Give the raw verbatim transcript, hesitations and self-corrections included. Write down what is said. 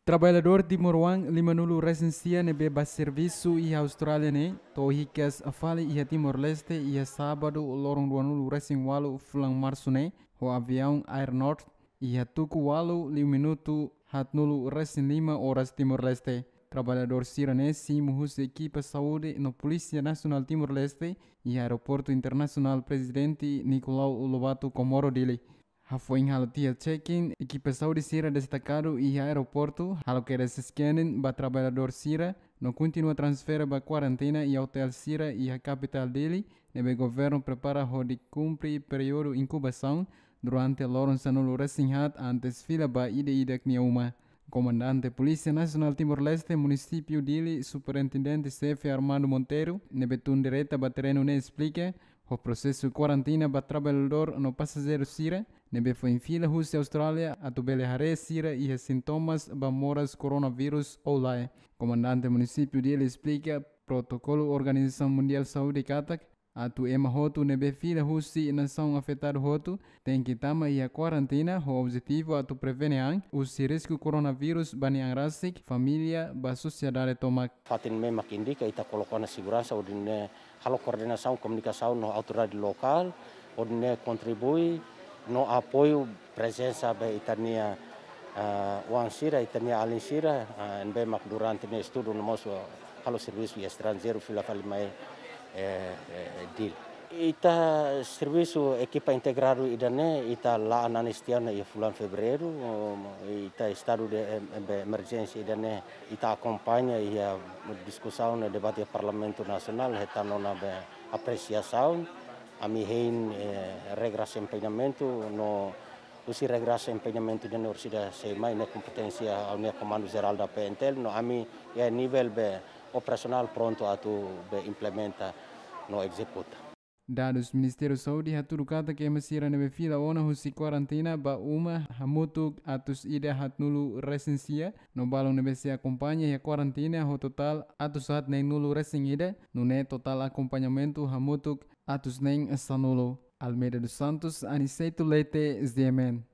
Traballadór timoroan lima-nulu resin sia ne'ebé bá servisu iha Austrália ne'e to'o hikas fali iha Timor-Leste iha sábadu loron dua-nulu resin ualu fulan marsu ne'e ho aviaun Air North iha tuku ualu liu minutu haat-nulu resin lima oras Timor-Leste. Traballadór sira-ne'e simu husi ekipa saúde no Polísia Nasionál Timor-Leste iha Aeroportu Internasionál Prezidente Nicolau Lobato Comoro Dili. Hafoin halo tiha check-in, ekipa saúde sira destakadu iha aeroportu halo kedas scanning ba traballadór sira no kontinua transfere ba kuarantina iha otél sira iha kapitál Dili, ne'ebé governu prepara hodi kumpre períodu inkubasaun durante loron sanulu resin haat antes fila ba ida-idak nia uma. Komandante Polísia Nasionál Timor-Leste Munisípiu Dili, Superintendente Xefe Armando Monteiro, ne'ebé tun direta ba terrenu ne'e esplika, ho prosesu kuarantina ba traballadór no pasajeiru sira ne'ebé foin fila husi Austrália atu bele haree sira iha sintomas ba moras koronavírus ou lae. Komandante Munisípiu Dili esplika protokolu Organizasaun Mundiál Saúde katak atu ema hotu ne'ebé fila husi nasaun afetadu hotu tenke tama iha kuarantina ho objetivu atu prevene an husi risku koronavírus ba nia an rasik, família, ba sosiedade tomak. Fatin ne'e mak indika ita koloka ona seguransa hodi nune'e halo koordenasaun komunikasaun no autoridade lokál hodi nune'e kontribui no apoiu prezensa ba ita-nia, ah, oan sira, ita-nia alin sira, ah, ne'ebé mak durante ne'e estudu no mós halo servisu iha estranjeiru fila fali mai, eh, eh, Dili. Ita servisu ekipa integradu ida-ne'e ita la'o anis tiha ona iha fulan Fevereiru, oh, ita estadu de em-, em-, emerjénsia ida-ne'e ita akompaña iha diskusaun no debate iha Parlamentu Nasionál, hetan ona be apresiasaun, ami hein, eh, regra desempeñamentu no husi regra desempeñamentu ida-ne'e orsida sei mai ne'e kompeténsia ha'u-nia Komandu Jerál da P N T L no ami iha nivel be operasionál prontu atu be implementa no ezekuta. Dadus Ministériu Saúde hatudu katak ema sira ne'ebé fila ona husi kuarantina ba uma hamutuk atus ida haat-nulu resin sia, no balun ne'ebé sei akompaña iha kuarantina ho totál atus haat neen-nulu resin ida, nune'e totál akompañamentu hamutuk atus neen sanulu. Almeida dos Santos, Aniceto Leite, Z M N.